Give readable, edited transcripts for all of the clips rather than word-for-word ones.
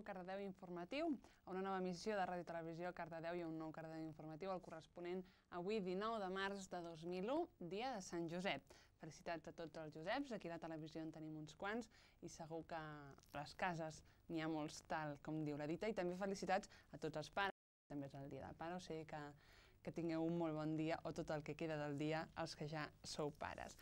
Cardedeu Informatiu, a una nova emissió de Ràdio Televisió Cardedeu i a un nou Cardedeu Informatiu, el corresponent avui 19 de març de 2001, dia de Sant Josep. Felicitats a tots els Joseps, aquí a la televisió en tenim uns quants i segur que a les cases n'hi ha molts, tal com diu la dita, i també felicitats a tots els pares, també és el dia del pare, o sigui que tingueu un molt bon dia o tot el que queda del dia els que ja sou pares.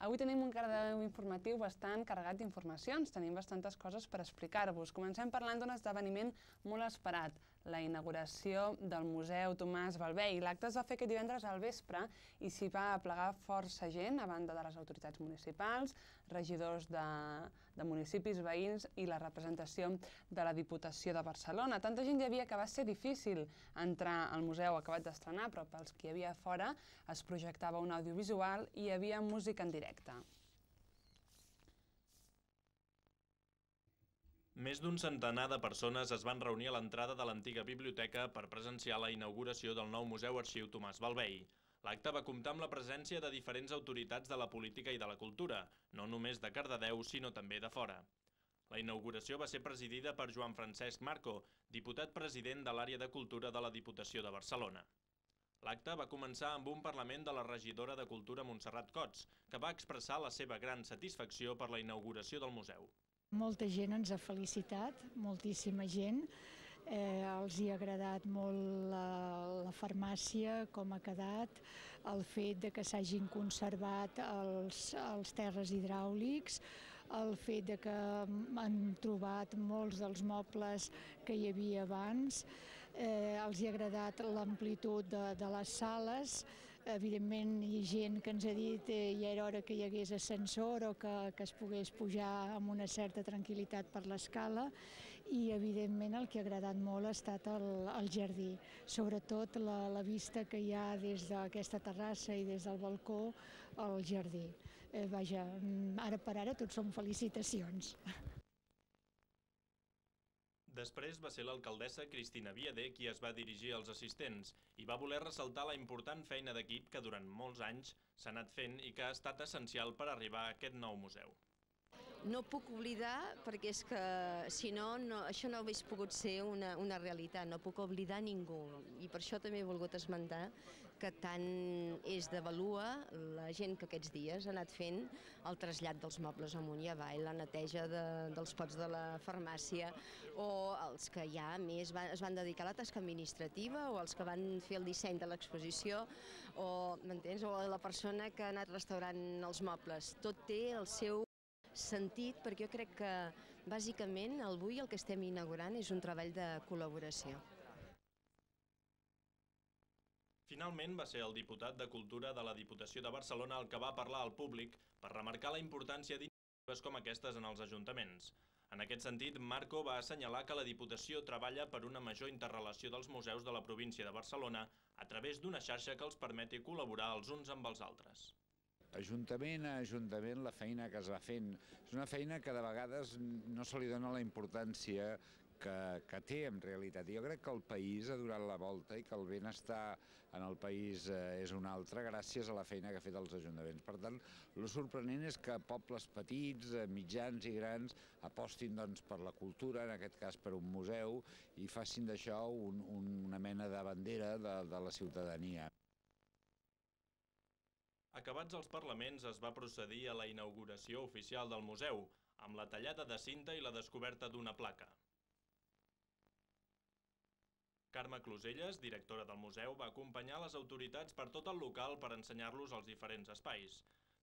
Avui tenim un Cardedeu Informatiu bastant carregat d'informacions, tenim bastantes coses per explicar-vos. Comencem parlant d'un esdeveniment molt esperat, la inauguració del Museu Tomàs Bellvei. L'acte es va fer aquest divendres al vespre i s'hi va aplegar força gent, a banda de les autoritats municipals, regidors de municipis veïns i la representació de la Diputació de Barcelona. Tanta gent hi havia que va ser difícil entrar al museu acabat d'estrenar, però pels que hi havia fora es projectava un audiovisual i hi havia música en directe. Més d'un centenar de persones es van reunir a l'entrada de l'antiga biblioteca per presenciar la inauguració del nou Museu Arxiu Tomàs Bellvei. L'acte va comptar amb la presència de diferents autoritats de la política i de la cultura, no només de Cardedeu, sinó també de fora. La inauguració va ser presidida per Joan Francesc Marco, diputat president de l'àrea de cultura de la Diputació de Barcelona. L'acte va començar amb un parlament de la regidora de Cultura Montserrat Cots, que va expressar la seva gran satisfacció per la inauguració del museu. Molta gent ens ha felicitat, moltíssima gent. Els hi ha agradat molt la farmàcia, com ha quedat, el fet de que s'hagin conservat els terres hidràulics, el fet de que han trobat molts dels mobles que hi havia abans, els hi ha agradat l'amplitud de les sales. Evidentment hi ha gent que ens ha dit ja era hora que hi hagués ascensor o que es pogués pujar amb una certa tranquil·litat per l'escala, i evidentment el que ha agradat molt ha estat el jardí, sobretot la vista que hi ha des d'aquesta terrassa i des del balcó al jardí. Vaja, ara per ara tot són felicitacions. Després va ser l'alcaldessa Cristina Viader qui es va dirigir als assistents i va voler ressaltar la important feina d'equip que durant molts anys s'ha anat fent i que ha estat essencial per arribar a aquest nou museu. No puc oblidar, perquè és que si no, això no hauria pogut ser una realitat, no puc oblidar ningú. I per això també he volgut esmentar que tant és de vàlua la gent que aquests dies ha anat fent el trasllat dels mobles amunt i avall, la neteja dels pots de la farmàcia, o els que ja més es van dedicar a la tasca administrativa, o els que van fer el disseny de l'exposició, o la persona que ha anat restaurant els mobles. Tot té el seu sentit, perquè jo crec que bàsicament avui el que estem inaugurant és un treball de col·laboració. Finalment va ser el diputat de Cultura de la Diputació de Barcelona el que va parlar al públic per remarcar la importància d'iniciatives com aquestes en els ajuntaments. En aquest sentit, Marco va assenyalar que la Diputació treballa per una major interrelació dels museus de la província de Barcelona a través d'una xarxa que els permeti col·laborar els uns amb els altres. Ajuntament a ajuntament, la feina que es va fent és una feina que de vegades no se li dona la importància que té en realitat. Jo crec que el país ha donat la volta i que el benestar en el país és un altre gràcies a la feina que ha fet els ajuntaments. Per tant, el sorprenent és que pobles petits, mitjans i grans apostin per la cultura, en aquest cas per un museu, i facin d'això una mena de bandera de la ciutadania. Acabats els parlaments es va procedir a la inauguració oficial del museu, amb la tallada de cinta i la descoberta d'una placa. Carme Closelles, directora del museu, va acompanyar les autoritats per tot el local per ensenyar-los els diferents espais.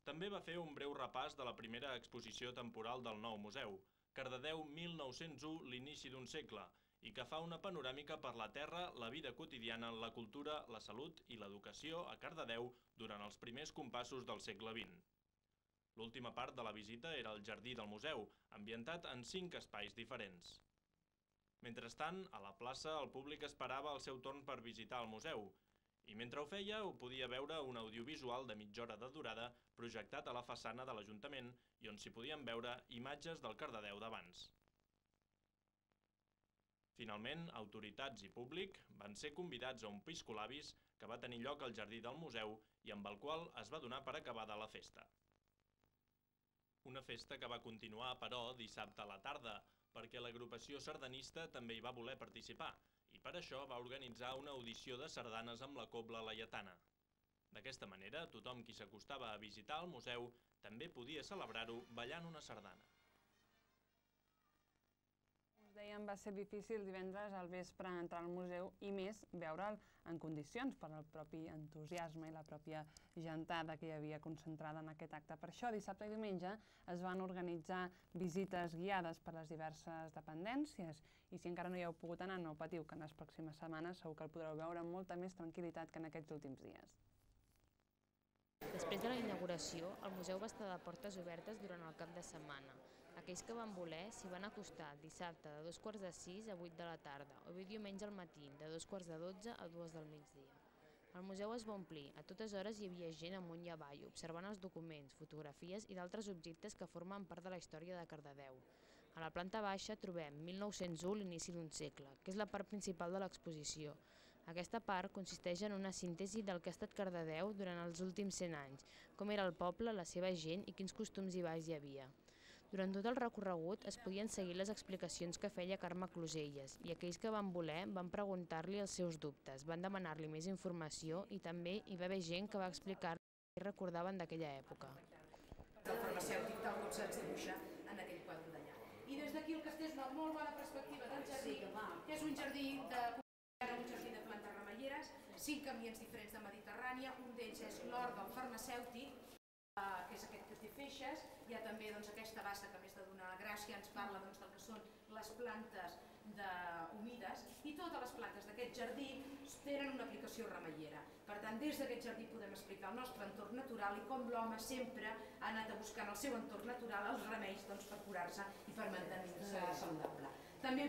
També va fer un breu repàs de la primera exposició temporal del nou museu, Cardedeu 1901, l'inici d'un segle, i que fa una panoràmica per la terra, la vida quotidiana, la cultura, la salut i l'educació a Cardedeu durant els primers compassos del segle XX. L'última part de la visita era el jardí del museu, ambientat en 5 espais diferents. Mentrestant, a la plaça el públic esperava el seu torn per visitar el museu, i mentre ho feia ho podia veure un audiovisual de mitja hora de durada projectat a la façana de l'Ajuntament i on s'hi podien veure imatges del Cardedeu d'abans. Finalment, autoritats i públic van ser convidats a un piscolabis que va tenir lloc al jardí del museu i amb el qual es va donar per acabada la festa. Una festa que va continuar, però, dissabte a la tarda, perquè l'agrupació sardanista també hi va voler participar i per això va organitzar una audició de sardanes amb la cobla laietana. D'aquesta manera, tothom qui s'acostava a visitar el museu també podia celebrar-ho ballant una sardana. Us dèiem, va ser difícil divendres al vespre entrar al museu i més veure'l en condicions per al propi entusiasme i la pròpia gentada que hi havia concentrada en aquest acte. Per això, dissabte i diumenge es van organitzar visites guiades per les diverses dependències i si encara no hi heu pogut anar, no patiu, que en les pròximes setmanes segur que el podreu veure amb molta més tranquil·litat que en aquests últims dies. Després de la inauguració, el museu va estar de portes obertes durant el cap de setmana. Aquells que van voler s'hi van acostar dissabte de 5:45 a 8 de la tarda o bé diumenge al matí de 12:45 a 2 del migdia. El museu es va omplir, a totes hores hi havia gent amunt i avall, observant els documents, fotografies i d'altres objectes que formen part de la història de Cardedeu. A la planta baixa trobem 1901, l'inici d'un segle, que és la part principal de l'exposició. Aquesta part consisteix en una síntesi del que ha estat Cardedeu durant els últims 100 anys, com era el poble, la seva gent i quins costums i balls hi havia. Durant tot el recorregut es podien seguir les explicacions que feia Carme Closelles i aquells que van voler van preguntar-li els seus dubtes, van demanar-li més informació i també hi va haver gent que va explicar-li què recordaven d'aquella època. El farmacèutic tal com se'ns dibuixa en aquell quadre d'allà. I des d'aquí el castell és una molt bona perspectiva del jardí, que és un jardí de plantes remeieres, 5 ambients diferents de Mediterrània, un d'ells és l'hort del farmacèutic, que és aquest que té feixes, hi ha també aquesta bassa que a més de donar la gràcia ens parla del que són les plantes humides i totes les plantes d'aquest jardí tenen una aplicació remeiera. Per tant, des d'aquest jardí podem explicar el nostre entorn natural i com l'home sempre ha anat a buscar en el seu entorn natural els remeis per curar-se i per mantenir-se saludable. També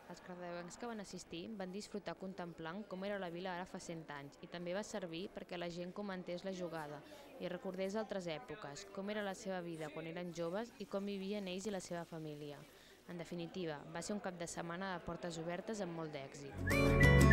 Els cardedeuencs que van assistir van disfrutar contemplant com era la vila ara fa 100 anys i també va servir perquè la gent comentés la jugada i recordés altres èpoques, com era la seva vida quan eren joves i com vivien ells i la seva família. En definitiva, va ser un cap de setmana de portes obertes amb molt d'èxit.